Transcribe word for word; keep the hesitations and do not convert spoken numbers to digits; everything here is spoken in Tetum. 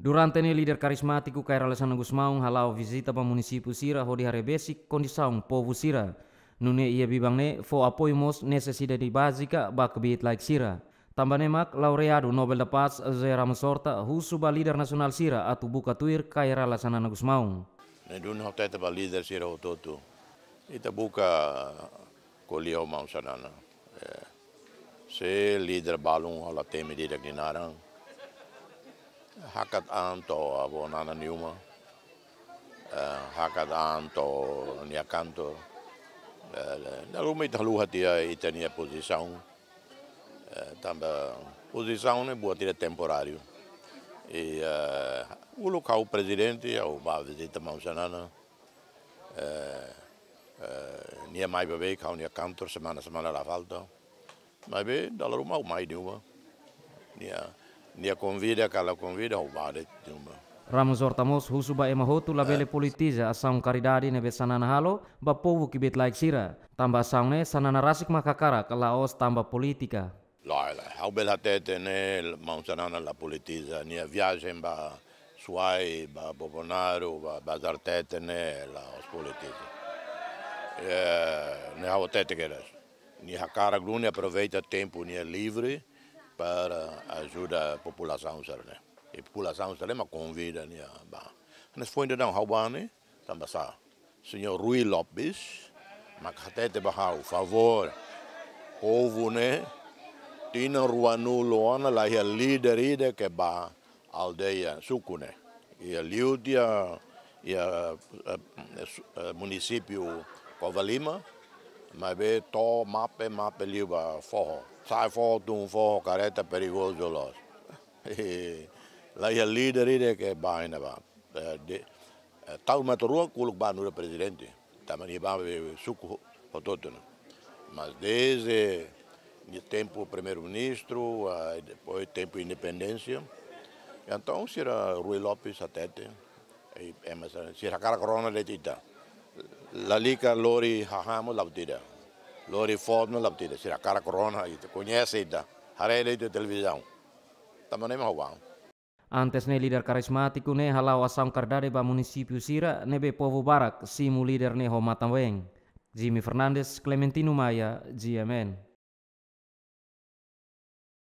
Durante ne'e líder karizmátiku Kay Rala Xanana Gusmão hala'o vizita ba munisípiu sira hodi haree besik kondisaun povu sira. Nune'e iha biban ne'e fó apoiu mós nesesidade bázika ba kbiit-laek sira. Tanba ne'e mak laureadu Nobel da Paz José Ramos Horta husu ba líder nasionál sira atu buka tuir Kay Rala Xanana Gusmão. Ne'e duni ha'u hatete ba líder sira hotu-hotu. Ita buka ko'alia ho maun Xanana. Eh, se líder balun ha'u la temi didi'ak nia naran. Hakat an to'o avó Nana nia uma. Eh, hakat an to'o nia kantor. Eh, dala ruma ita haluha tiha ita-nia pozisaun. Eh, tanba pozisaun ne'e buat ida temporáriu. I, eh, uluk ha'u prezidente, ha'u bá vizita maun Xanana. Eh, eh, nia mai ba beik ha'u-nia kantor semana-semana la falta. Maibé, dala ruma ha'u mai nia uma. Nia, nia konvida, ka la konvida, ha'u bá de'it nia uma. Ramos Horta mós husu ba ema hotu labele politiza asaun karidade ne'ebé Xanana halo ba povu kbiit-laek sira. Tanba asaun ne'e Xanana rasik mak hakarak, la'ós tanba polítika. Lae, lae. Ha'u bele hatete ne'e maun Xanana la politiza, nia viajen ba Suai, ba Bobonaro, ba Bazartete ne'e la'ós politiza. Eh, ne'e ha'u hatete kedas. Nia hakarak duni aproveita tempu nia livre para ajuda populasaun sira-ne'e. I populasaun sira-ne'e mak konvida nia bá. Ne'e foin daudaun ha'u bá ne'e, tanba sá? Señór Rui Lopes mak hatete ba ha'u, favór, povu ne'e, tinan ruanulu ona la iha líder ida ke bá aldeia, suku ne'e. Iha liu tiha, iha, eh, su-, eh, munisípiu Covalima, maibé to'o mape, mape liu ba foho. Sa'e foho, tun foho, karreta perigozu loos. La iha líder ida ke bá iha ne'ebá. Eh, de, eh, tau mata rua uluk bá nu'udar prezidente. Tanba nia bá be suku ho-, hotu-hotu ne'e. Mas desde nia tempu primeiru-ministru, ah, depois tempu independénsia. Entaun, sira Rui Lopes hatete, i, eh, mas, eh, sira hakarak rona de'it ita. Lalika lori hahán mós la buat ida. Lori foot mós la buat ida. Sira hakarak rona ita, koñese ita. Haree de'it televizaun. Tanba ne'e mak ha'u bá. Antes ne'e líder karizmátiku ne'e hala'o asaun karidade ba munisípiu sira ne'ebé povu barak simu líder ne'e ho matan-been. Jimmy Fernandes, Clementino Maia, G M N.